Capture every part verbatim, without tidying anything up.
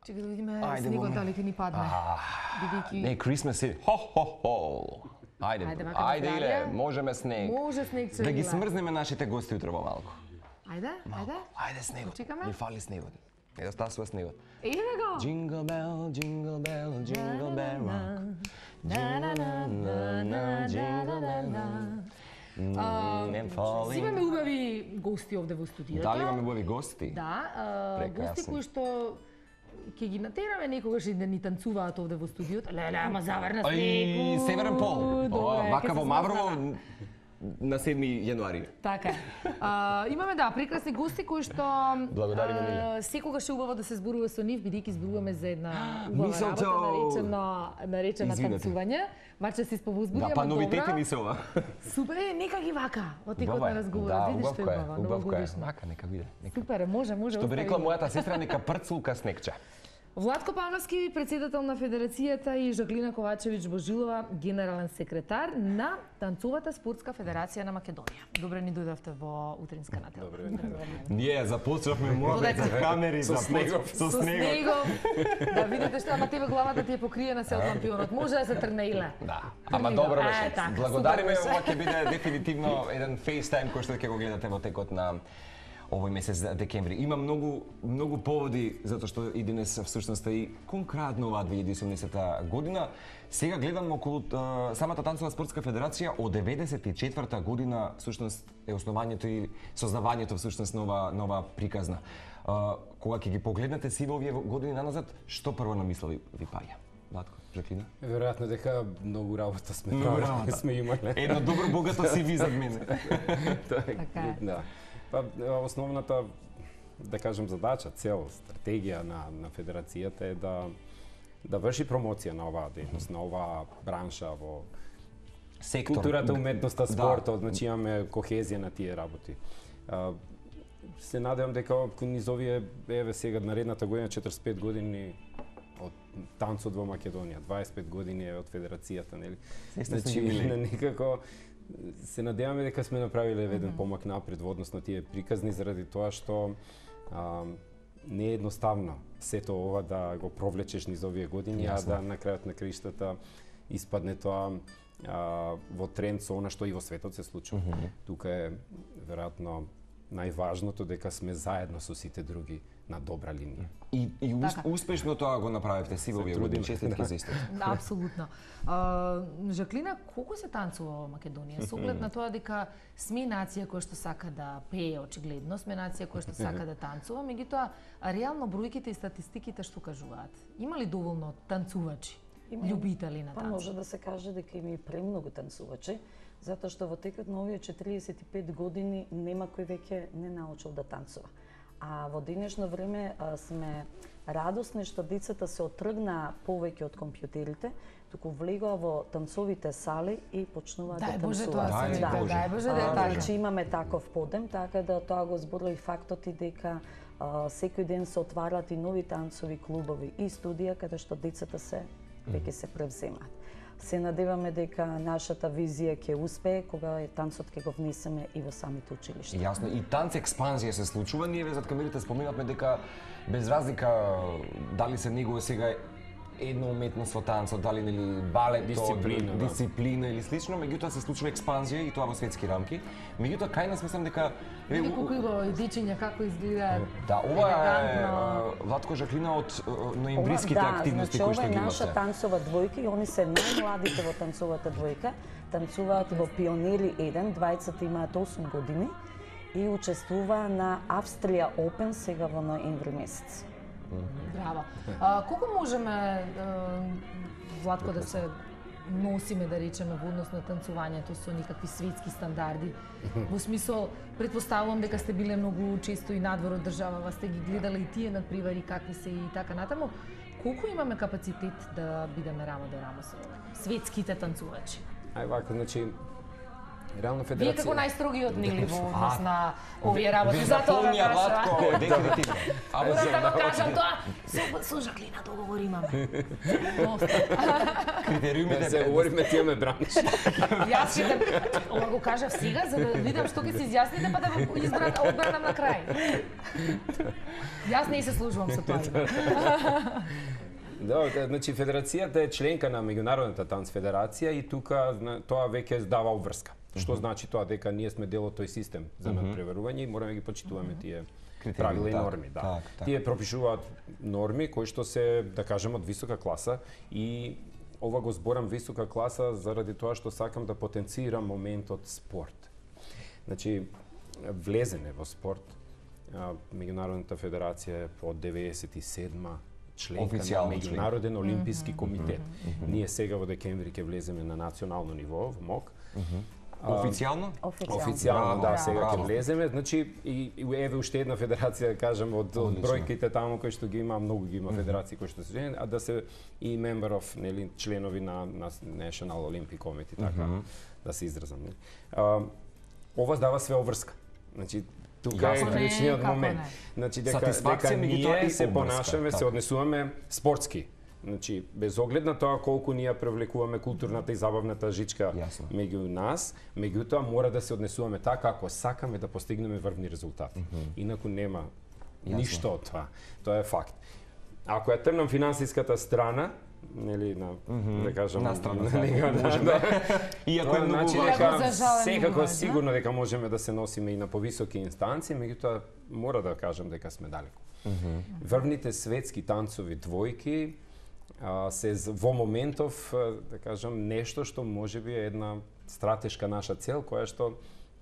Чекај да видиме снегот дали ќе ни падне. Бидејќи Не, Christmas е. Хо хо хо. Ајде, ајде Иле, можеме снег. Може снегче. Да ги смрзнеме нашите гости утре малку. Ајде, ајде. Ајде снегот. Чекаме. Ни фали снегот. Не да стасува снегот. Ејде го. Jingle bell, jingle bell, jingle bell rock. Jingle bell. Си имаме убави гости овде во студиото. Дали имаме убави гости? Да, гости кои што ќе ги натераме некогаш и да ни танцуваат овде во студиото. Леле, ама заврна снег. Ај, Северен пол. Вака во Маврово на седми јануари. Така е. А, имаме да прекрасни гости кои што Благодариме Миле. Секогаш е убаво да се зборува со нив бидејќи зборуваме за една убава Мисълто! работа наречена наречена Извинете. танцување. Маче се исповозбуди, Да, па ама новитети добра. ми се ова. Супер, е, нека ги вака во текот Убаво е. на разговорот. Да, Видиш што е убавко е, убава, убавко е. новогодишно. Вака, нека биде. Нека. Супер, е, може, може. Што би остави рекла го. мојата сестра, нека прцулка снегче. Владко Павловски, председател на Федерацијата и Жаклина Ковачевиќ Божилова, генерален секретар на Танцовата спортска федерација на Македонија. Добре ни дојдовте во утринска нател. Добре вечер. Ние започнавме морбет за камери, Со снегов. со Со снегот. снегов. Да видите што, ама тебе главата ти е покриена се од лампионот. Може да се трне Иле. Да, ама Трнило. добро Е, беше. така, Благодариме, супер беше. ова ќе биде дефинитивно еден FaceTime кој што ќе го гледате во текот на овој месец декември. Има многу многу поводи затоа што и денес всушност и конкретно оваа две илјади и осумнаесета година. Сега гледам околу а, самата танцова спортска федерација од деветдесет и четврта година всушност е основањето и создавањето всушност на ова на ова приказна. А, кога ќе ги погледнете сиве овие години наназад, што прво на мисла ви, ви паѓа? Владко, Жаклина? Веројатно дека многу работа сме Многу правили, работа. сме имале. Едно добро богато си ви зад мене. Така е. Да. Па основната да кажем задача, цел, стратегија на на федерацијата е да да врши промоција на оваа дејност, на оваа бранша во Сектор. културата, уметноста, Да. спортот, значи имаме кохезија на тие работи. А, се надевам дека кон низ овие еве сега наредната година четиридесет и пет години од танцот во Македонија, дваесет и пет години е од федерацијата, нели? Се сте Значи се јубилеј. на некако се надеваме дека сме направиле еден помак напред во однос на тие приказни заради тоа што а, не е едноставно сето ова да го провлечеш низ овие години, а Јасно. да на крајот на краиштата испадне тоа а, во тренд со она што и во светот се случува. Мгм. Тука е веројатно најважното дека сме заедно со сите други на добра линија. И, и ус, Така. успешно тоа го направивте си во овие години. трудиме. Честитки за истото. Да, апсолутно. А, Жаклина, колку се танцува во Македонија? Со оглед на тоа дека сме нација која што сака да пее очигледно, сме нација која што сака да танцува, меѓутоа реално бројките и статистиките што кажуваат? Има ли доволно танцувачи, Има. љубители на Па танц? може да се каже дека има и премногу танцувачи, затоа што во текот на овие четириесет и пет години нема кој веќе не научил да танцува. А во денешно време а, сме радосни што децата се отргнаа повеќе од компјутерите, туку влегоа во танцовите сали и почнуваат да Дај Боже танцуваат. тоа Дај се вика, Боже. дај Боже да е А, така. Значи имаме таков подем, така да тоа го зборува и фактот и дека а, секој ден се отварат и нови танцови клубови и студија каде што децата се веќе се превземаат. Се надеваме дека нашата визија ќе успее кога е танцот ќе го внесеме и во самите училишта. Јасно, и танц експанзија се случува. Ние ве зад камерите споменавме дека без разлика дали се негува сега една уметност во танцот, дали нели балет, Дисциплина, да. дисциплина или слично, меѓутоа се случува експанзија и тоа во светски рамки. Меѓутоа кај нас мислам дека е, Види у- колку има и дечиња како изгледаат. да, ова е елегантно. а, Владко Жаклина од а, ноемвриските Ова, активности значи, кои што ова ги е наша имате. танцова двојка и они се најмладите во танцовата двојка. Танцуваат во Пионери еден, двајцата имаат осум години и учествува на Австрија Опен сега во ноември месец. Браво. А, колку можеме, е, Владко, да се носиме, да речеме, во однос на танцувањето со никакви светски стандарди? Во смисол, предпоставувам дека сте биле многу често и надвор од државава, сте ги гледале и тие надпревари какви се и така натаму. Колку имаме капацитет да бидеме рамо до рамо со светските танцувачи? Ај вака, значи Реално Вие федерација. како најстрогиот нели во однос на овие работи, Ви затоа да запомнија Владко, кажа. дефинитивно. Морам да го кажам тоа. Со со Жаклина договор имаме. Критериумите Да се говориме, ти ме браниш. Јас ќе те ова го кажав сега за да видам што ќе се изјасните па да го избрат одбранам на крај. Јас не се служувам со тоа. Да, да, значи федерацијата е членка на меѓународната танц федерација и тука зна- тоа веќе дава обврска. Што значи тоа дека ние сме дел од тој систем за надпреварување и мораме да ги почитуваме тие правила и так, норми, да. так, так. Тие пропишуваат норми кои што се, да кажем, од висока класа и ова го зборам висока класа заради тоа што сакам да потенцирам моментот спорт. Значи, влезене во спорт, а, Меѓународната федерација е од деветдесет и седма членка Официјално на Меѓународен олимписки комитет. Ние сега во декември ќе влеземе на национално ниво, во МОК. Официјално? Официјално, да, Браво, сега ќе браво. влеземе. Значи, и, и еве уште една федерација, да кажем, од, од Одлично. бројките таму кои што ги има, многу ги има федерации кои што се женени, а да се и member of, нели, членови на, на National Olympic Committee, така, да се изразам. Нели. А, ова дава све обврска. Значи, тука е Јасно. клучниот Како момент. не? Значи, дека, Сатисфакција, дека меѓутоа ние и се обврска, понашаме, се така. однесуваме спортски. Значи, без оглед на тоа колку ние привлекуваме културната и забавната жичка Јасно. меѓу нас, меѓутоа мора да се однесуваме така ако сакаме да постигнеме врвни резултати. Инаку нема Јасно. ништо од тоа. Тоа е факт. Ако ја трнам финансиската страна, нели на да кажам На страна, нели, да, да, можеме. Иако е Тоа многу значи важно. дека Иако за жалење секако важно. сигурно дека можеме да се носиме и на повисоки инстанции, меѓутоа мора да кажам дека сме далеку. Врвните светски танцови двојки а, се з- во моментов, а, да кажам, нешто што можеби е една стратешка наша цел, која што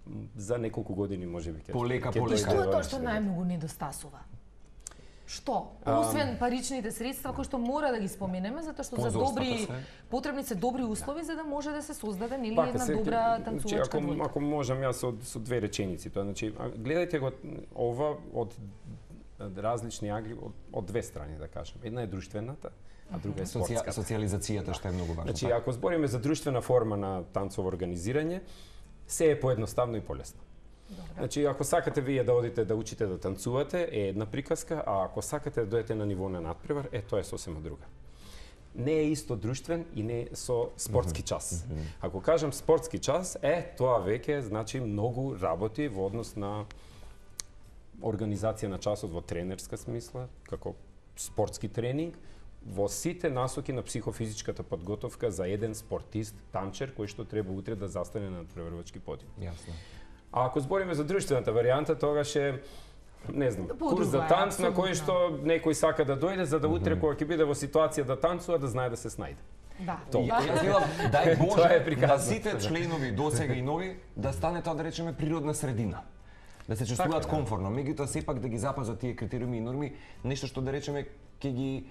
м, за неколку години можеби ќе Полека, ќе полека. И дојде што е до тоа нешто што да најмногу недостасува? Што? Освен паричните средства кои што мора да ги споменеме затоа што за Спонзорствата добри се. потребни се добри услови за да може да се создаде нели Пака една се- добра значи, танцувачка ако, двојка. ако можам јас со, со две реченици тоа, значи а, гледајте го ова од од различни агли од, од две страни да кажем. Една е друштвената, а друга е Соција, спортската. социјализацијата што е многу важно. Значи, така. ако збориме за друштвена форма на танцово организирање, се е поедноставно и полесно. Значи, ако сакате вие да одите да учите да танцувате, е една приказка, а ако сакате да дојдете на ниво на надпревар, е тоа е сосема друга. Не е исто друштвен и не е со спортски час. Ако кажам спортски час, е тоа веќе значи многу работи во однос на организација на часот во тренерска смисла, како спортски тренинг, во сите насоки на психофизичката подготовка за еден спортист, танчер, кој што треба утре да застане на надпреварувачки подиум. Јасно. А ако збориме за друштвената варијанта, тогаш е не знам, Подруга курс за е, танц на кој апсолутно. што некој сака да дојде за да утре кога ќе биде во ситуација да танцува, да знае да се снајде. Да. Тоа. Да. Јас велам, дај Тоа Боже, е на приказно. сите членови досега и нови да стане тоа да речеме природна средина. Да се чувствуваат Така, да. комфортно, меѓутоа сепак да ги запазат тие критериуми и норми, нешто што да речеме ќе ги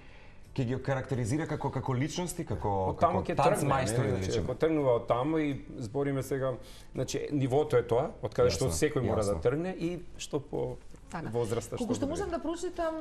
ќе ги карактеризира како како личности, како Од таму како ќе танц тргне, мајстори да не, значи, речеме. ако тргнува од таму и збориме сега, значи нивото е тоа, од каде што Јасно, секој мора да јасно. тргне и што по Така. возраста Колку што да можам биде. да прочитам,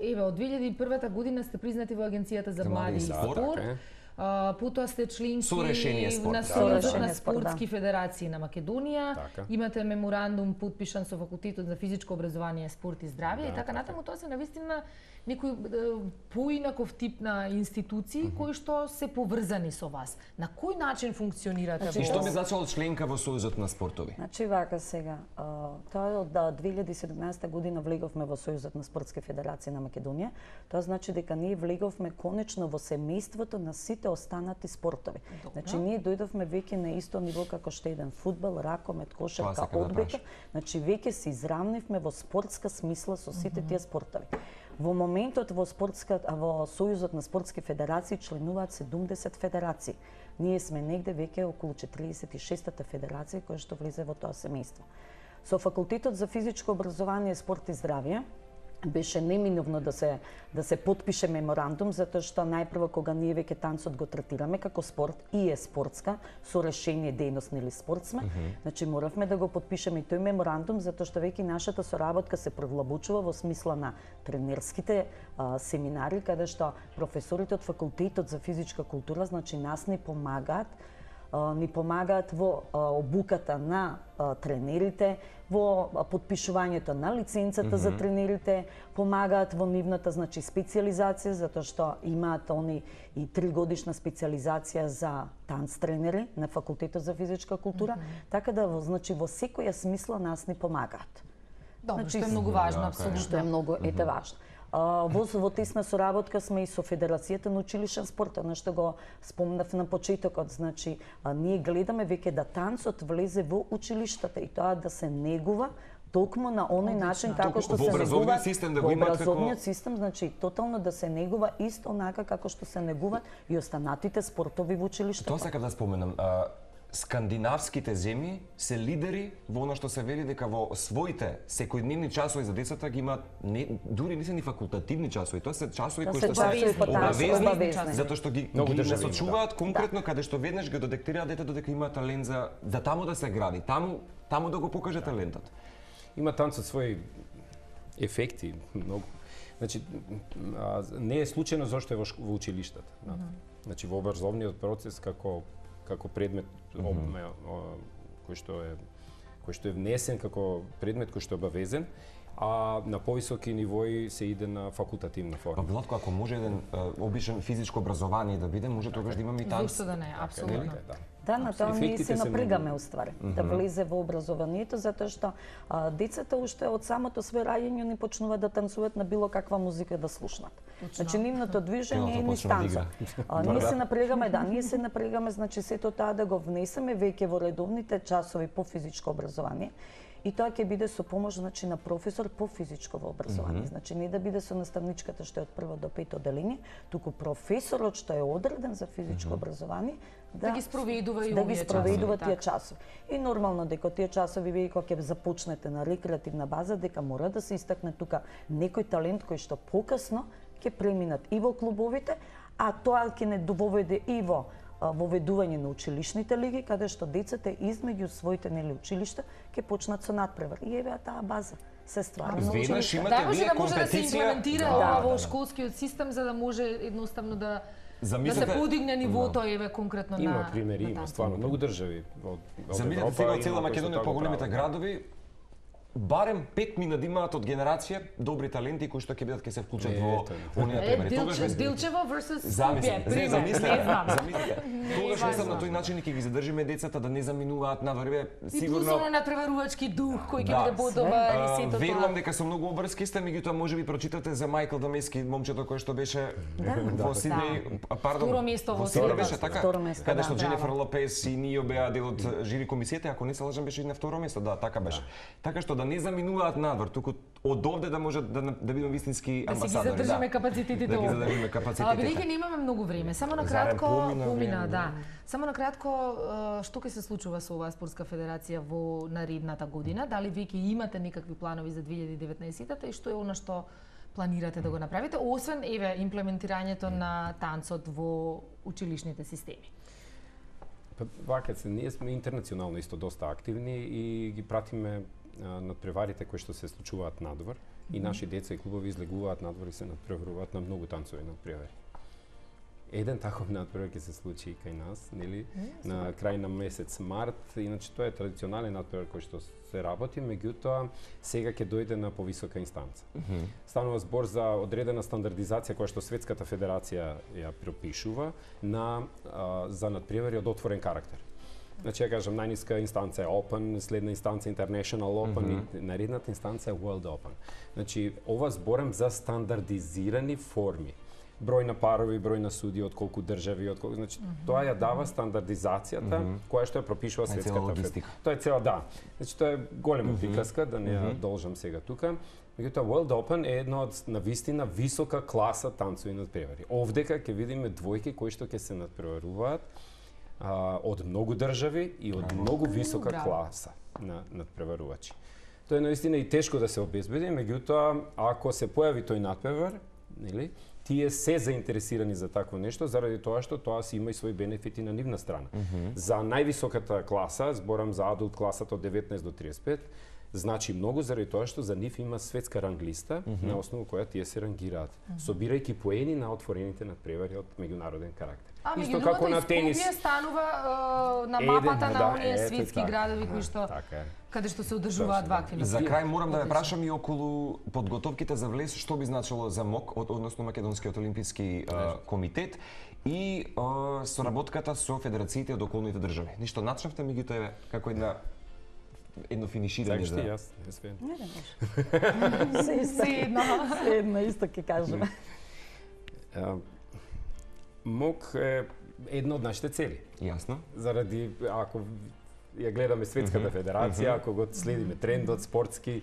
е, еве, од две илјади и прва година сте признати во Агенцијата за За млади млади и и спорт, спорт. така е. А, потоа сте членки Со решение спорт, на да. Со Сојузот решение на спорт, да. спортски федерации на Македонија. Така. Имате меморандум подпишан со факултетот за физичко образование, спорт и здравје Да, и така така. натаму. Тоа се навистина некој е, поинаков тип на институции кои што се поврзани со вас. На кој начин функционирате Значи, И што во би значило членка во Сојузот на спортови? Значи вака сега, а, тоа е од да, две илјади и седумнаесета година влеговме во Сојузот на спортски федерации на Македонија. Тоа значи дека ние влеговме конечно во семејството на сите останати спортови. Значи ние дојдовме веќе на исто ниво како што еден фудбал, ракомет, Тоа кошарка, сакам да одбојка. прашам. Значи веќе се изравнивме во спортска смисла со сите тие спортови. Во моментот во спортска а во Сојузот на спортски федерации членуваат седумдесет федерации. Ние сме негде веќе околу четириесет и шестата федерација која што влезе во тоа семејство. Со факултетот за физичко образование, спорт и здравје беше неминовно да се да се потпише меморандум затоа што најпрво кога ние веќе танцот го третираме како спорт и е спортска со решение дејност нели спорт сме, mm -hmm. значи моравме да го потпишеме и тој меморандум затоа што веќе нашата соработка се провлабучува во смисла на тренерските а, семинари каде што професорите од факултетот за физичка култура значи нас ни помагаат ни помагаат во обуката на тренерите, во подпишувањето на лиценцата mm -hmm. за тренерите, помагаат во нивната значи специјализација, затоа што имаат они и тригодишна специјализација за танц тренери на факултетот за физичка култура, mm -hmm. така да значи во секоја смисла нас ни помагаат. Добро, значи, што е многу важно, апсолутно. Што е многу ете важно. Во, во тесна соработка сме и со Федерацијата на училишен спорт, на што го спомнав на почетокот. Значи, а, ние гледаме веќе да танцот влезе во училиштата и тоа да се негува токму на оној начин како што се негува систем да во го имат образовниот како... систем, значи тотално да се негува исто онака како што се негуваат и останатите спортови во училиштата. Тоа сакам да споменам. А, скандинавските земји се лидери во она што се вели дека во своите секојдневни часови за децата ги имаат не, дури не се ни факултативни часови, тоа се часови кои што се обавезни, затоа што ги, ги насочуваат да. конкретно да. каде што веднаш го детектираат детето дека има талент за да таму да се гради, таму таму да го покаже талентот. Има танцот своји ефекти, многу. Значи, а, не е случајно зашто е во, во училиштата. Mm -hmm. Значи, во образовниот процес како како предмет mm -hmm. кој што е кој што е внесен како предмет кој што е обавезен, а на повисоки нивои се иде на факултативна форма. Па Владко, ако може еден обичен физичко образование да биде, може тогаш да имаме и танц. Зошто да не, апсолутно. Да. Да, на тоа ние се напрегаме уствари, mm -hmm. да влезе во образованието, затоа што а, децата уште од самото свој раѓање не почнуваат да танцуваат на било каква музика да слушнат. Точно. Значи нивното движење е низ танцот. Ние се напрегаме, да, ние се напрегаме, значи сето тоа да го внесеме веќе во редовните часови по физичко образование. И тоа ќе биде со помош значи на професор по физичко образование. Mm -hmm. Значи не да биде со наставничката што е од прво до пето оделение, туку професорот што е одреден за физичко mm -hmm. образование да, да ги спроведува и да ги спроведува тие часови. И нормално дека тие часови вие кога ќе започнете на рекреативна база дека мора да се истакне тука некој талент кој што покасно ќе преминат и во клубовите, а тоа ќе не доведе и во воведување на училишните лиги, каде што децата измеѓу своите нели училишта ќе почнат со надпревар. И еве таа база се ствара. Веднаш имате да, може вие да може да се компетиција имплементира да, ова да, во да. школскиот систем за да може едноставно да Замислете, да се подигне нивото да. еве конкретно има на Има примери, на има стварно многу држави од од Европа. Сега од цела Македонија по големите градови барем пет мина да имаат од генерација добри таленти кои што ќе бидат ќе се вклучат во оние примери. Тогаш Дилчево versus Скопје, пример. Замислете, замислете. Тогаш мислам на тој начин ќе ги задржиме децата да не заминуваат надвор, сигурно. И плюс на преварувачки дух кој ќе биде подобар и сето тоа. Верувам дека со многу обврски сте, меѓутоа можеби прочитате за Мајкл Дамески, момчето кој што беше во Сиднеј, пардон. Второ место во Сиднеј беше така. Каде што да. Дженифер Лопес и Нио беа дел од жири комисијата, ако не се лажам беше и на второ место, да, така беше. Така што да не заминуваат надвор, туку од овде да може да да бидеме вистински амбасадори. Да си ги задржиме капацитетите. Да ги задржиме капацитетите. А бидејќи немаме многу време, само на кратко помина, да. Само на кратко што ќе се случува со оваа спортска федерација во наредната година? Дали веќе имате некакви планови за две илјади и деветнаесетта и што е она што планирате да го направите, освен еве имплементирањето на танцот во училишните системи? Вака се, ние сме интернационално исто доста активни и ги пратиме надпреварите кои што се случуваат надвор mm -hmm. и наши деца и клубови излегуваат надвор и се надпреваруваат на многу танцови надпревари. Еден таков надпревар ќе се случи и кај нас, нели? Mm, на крај на месец март, иначе тоа е традиционален надпревар кој што се работи, меѓутоа сега ќе дојде на повисока инстанца. Mm -hmm. Станува збор за одредена стандардизација која што Светската федерација ја пропишува на а, за надпревари од отворен карактер. Значи, ја кажам, најниска инстанца е Open, следна инстанца International Open mm -hmm. и наредната инстанца е World Open. Значи, ова зборам за стандардизирани форми. Број на парови, број на суди, од колку држави, од колку, значи, mm -hmm. тоа ја дава стандардизацијата mm -hmm. која што ја пропишува Светската федерација. Тоа е цела, да. Значи, тоа е голема mm -hmm. приказка, да не ја mm -hmm. должам сега тука. Меѓутоа, World Open е една од навистина висока класа танцови надпревари. Овдека ќе видиме двојки кои што ќе се надпреваруваат А, од многу држави и од многу висока Браво. класа на надпреварувачи. Тоа е наистина и тешко да се обезбеди, меѓутоа ако се појави тој надпревар, нели, тие се заинтересирани за такво нешто заради тоа што тоа си има и своји бенефити на нивна страна. Mm -hmm. За највисоката класа, зборам за адулт класата од деветнаесет до триесет и пет, значи многу заради тоа што за нив има светска ранглиста mm -hmm. на основа која тие се рангираат, mm -hmm. собирајќи поени на отворените надпревари од меѓународен карактер. А Исто меѓу како другото, на и тенис. Скопје станува е, на Еден, мапата на да, оние ето светски така. градови кои Да, што така е. каде што се одржуваат Точно, да. вакви За настани. крај морам да ве Одлично. прашам и околу подготовките за влез, што би значило за МОК, од- односно Македонскиот олимписки а, комитет и а, соработката со федерациите од околните држави. Ништо начнавте, меѓутоа еве како една едно финиширање Сакаш ти, за... јас, не све. Не, не може. Се исто. Се едно. Се едно исто ќе кажеме. А, МОК е една од нашите цели. Јасно. Заради, ако ја гледаме Светската федерација, ако го следиме трендот спортски,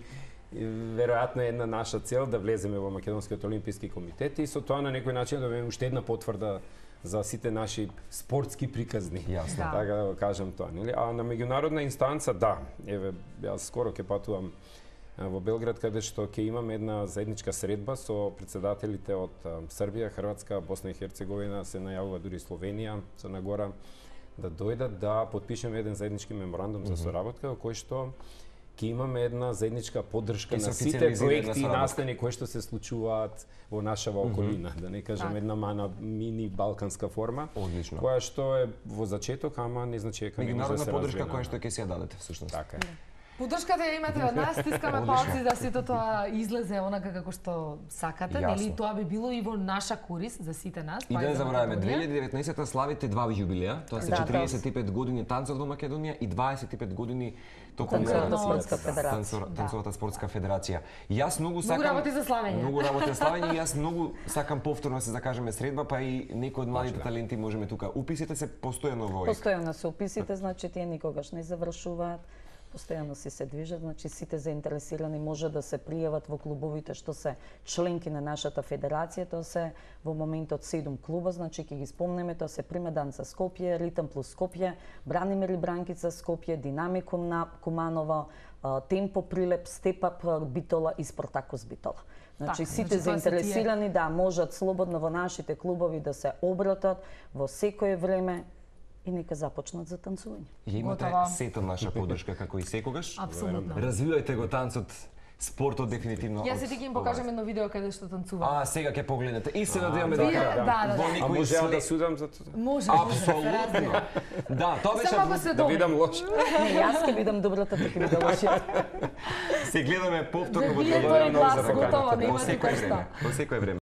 и веројатно е една наша цел да влеземе во Македонскиот олимписки комитет и со тоа на некој начин да имаме уште една потврда за сите наши спортски приказни. Јасно. Да. Така да го кажам тоа, нели? А на меѓународна инстанца, да. Еве, јас скоро ќе патувам а, во Белград, каде што ќе имаме една заедничка средба со председателите од а, Србија, Хрватска, Босна и Херцеговина, се најавува дури Словенија, Црна Гора, да дојдат да потпишеме еден заеднички меморандум за соработка, во кој што ќе имаме една заедничка поддршка Ќе се на сите официализира една проекти и соработка. настани кои што се случуваат во нашава околина, да не кажам Така. една мана мини балканска форма, Одлично. која што е во зачеток, ама не значи дека не може да Меѓународна се поддршка развие. која што ќе си ја дадете всушност. Така е. Поддршката ја имате од нас, стискаме Одлично. палци да сето тоа излезе онака како што сакате, Јасно. нели тоа би било и во наша корист за сите нас. И па да не за забораваме, Македонија. две илјади и деветнаесетта славите два јубилеа, тоа се Да, четириесет и пет години танцот во Македонија и дваесет и пет години токму Танцовата на- спортска Да, федерација. танцор- Да. Танцовата спортска федерација. Јас многу сакам работи за славење. Многу работи за славење и јас многу сакам повторно да се закажеме средба, па и некои од младите Точно. таленти можеме тука. Уписите се постојано во ОИК. Постојано се уписите, значи тие никогаш не завршуваат. Постојано си се движат, значи сите заинтересирани може да се пријават во клубовите што се членки на нашата федерација. Тоа се во моментот седум клуба, значи ќе ги спомнеме, тоа се Примеданца Скопје, Ритм плюс Скопје, Бранимир и Бранкица Скопје, Динамикум на Куманово, а, Темпо Прилеп, Степап Битола и Спартакус Битола. Значи Така, сите значи тоа се заинтересирани да можат слободно во нашите клубови да се обратат во секое време и нека започнат за танцување. Ја имате Готово. сето наша поддршка како и секогаш. Апсолутно. Развивајте го танцот, спортот дефинитивно. Јас од и ти ќе им ова. покажам едно видео каде што танцува. А, сега ќе погледнете. И се надеваме Вие- дека да, да, да. во А некој може ја да след- судам за тоа? Може, Апсолутно. Да, тоа беше Само ако се Да добри. видам лошо. Не, јас ќе видам добрата, ти ќе видам лошиот. се гледаме повторно во Вие телевизија. тој глас за поканата, готово, да. нема Во тука секој што. време. Во секој време.